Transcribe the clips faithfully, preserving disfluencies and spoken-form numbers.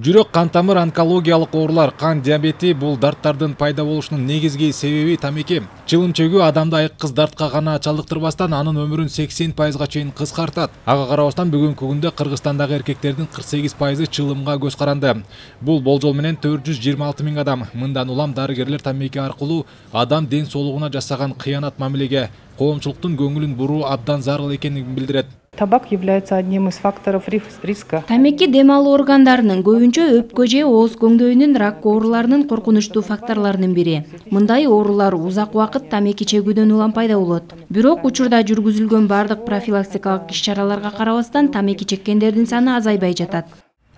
Жүрөк кан тамыр онкологиялык оорулар, кан диабети бул дарттардын пайда болушунун негизги себеби тамеки. Чылым чөгүү адамды айыккыз дартка гана чалдыктырбастан анын өмүрүн сексен пайызга чейин кыскартат. Ага карабастан бүгүнкү күндө Кыргызстандагы эркектердин кырк сегиз пайызы чылымга көз каранды. Бул болжол менен төрт жүз жыйырма алты миң адам. Мындан улам дарыгерлер тамеки аркылуу адам ден соолугуна жасаган кыянат мамилеге коомчулуктун көңүлүн буруу абдан зарыл экенин билдирет. Табак является одним из факторов риска. Тамеки дем алуу органдарынын көбүнчө өпкө же ооз көңдөйүнүн рак ооруларынын коркунучтуу факторлорунун бири. Мындай оорулар узак убакыт тамеки чегүүдөн улам пайда болот. Бирок учурда жүргүзүлгөн бардык профилактикалык иш-чараларга карабастан тамеки чеккендердин саны азайбай жатат.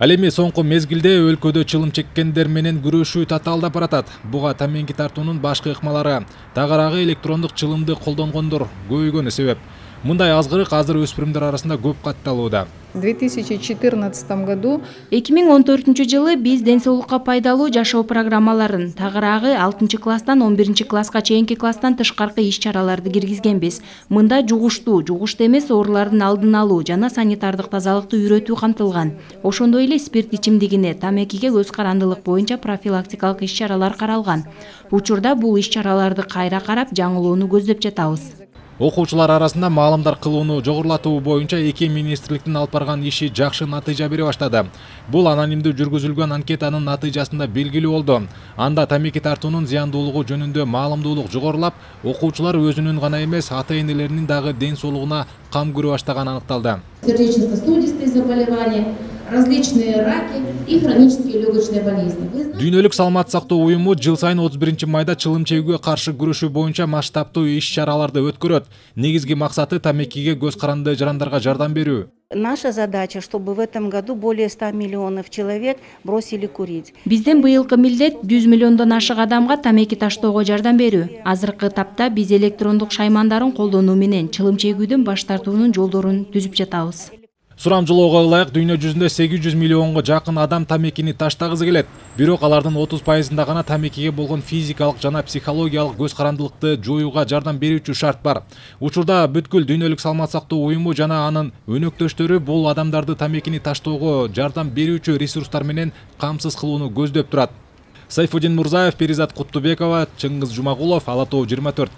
Ал эми соңку мезгилде өлкөдө чылым чеккендер менен күрөшүү татаалдап баратат. Буга тамеки тартуунун башкы ыкмалары, тагыраагы электрондук чылымды колдонгондор көбөйгөнү себеп. Мындай азгырык азыр өспүрүмдөр арасында көп катталууда. В две тысячи четырнадцатом году эки миң он төртүнчү жылы биз ден соолукка пайдалуу жашоо программаларын, тагыраагы алтынчы класстан он биринчи класска чейинки класстан тышкаркы иш-чараларды киргизгенбиз. Мында жугуштуу, жугуштуу эмес оорулардын алдын алуу жана санитардык тазалыкты үйрөтүү камтылган. Ошондой эле спирт ичимдигине, тамекиге көз карандылык боюнча профилактикалык иш-чаралар каралган. Учурда бул иш-чараларды кайра карап, жаңылоону көздөп жатабыз. Окуучулар арасында маалымдар кылууну жогорулатуу боюнча эки министрликтин алып барган иши жакшы натыйжа бере баштады. Бул анонимдүү жүргүзүлгөн анкетанын натыйжасында белгилүү болду. Анда тамеки тартуунун зыяндуулугу жөнүндө маалымдуулук жогорулап, окуучулар өзүнүн гана эмес, ата-энелеринин дагы ден соолугуна кам көрө баштаганы аныкталды. Сердечно-сосудистые заболевания, различные раки и хронические легочные болезни. Дүйнөлүк саламат сактоо уюму жыл сайын отуз биринчи майда чылым чегүүгө каршы күрөшүү боюнча масштабтуу иш-чараларды өткөрөт. Негизги максаты тамекиге көз каранды жарандарга жардам берүү. Наша задача, чтобы в этом году более ста миллионов человек бросили курить. Биздин быйылкы милдет жүз миллиондон ашык адамга тамеки таштоого жардам берүү. Азыркы тапта биз электрондук шаймандарын колдонуу менен чылым чегүүдөн баш тартуунун жолдорун түзүп жатабыз. Сурамжылоого ылайык дүйнө жүзүндө сегиз жүз миллионго жакын адам тамекини таштагысы келет. Бирок алардын отуз пайызында гана тамекиге болгон физикалык жана психологиялык көз карандылыкты жоюуга жардам берүүчү шарт бар. Учурда бүткүл дүйнөлүк саламат сактоо уюму жана анын өнөктөштөрү бул адамдарды тамекини таштоого жардам берүүчү ресурстар менен камсыз кылууну көздөп турат. Сайфуддин Мурзаев, Перизат Куттубекова, Чыңгыз Жумагулов, Ала Тоо жыйырма төрт.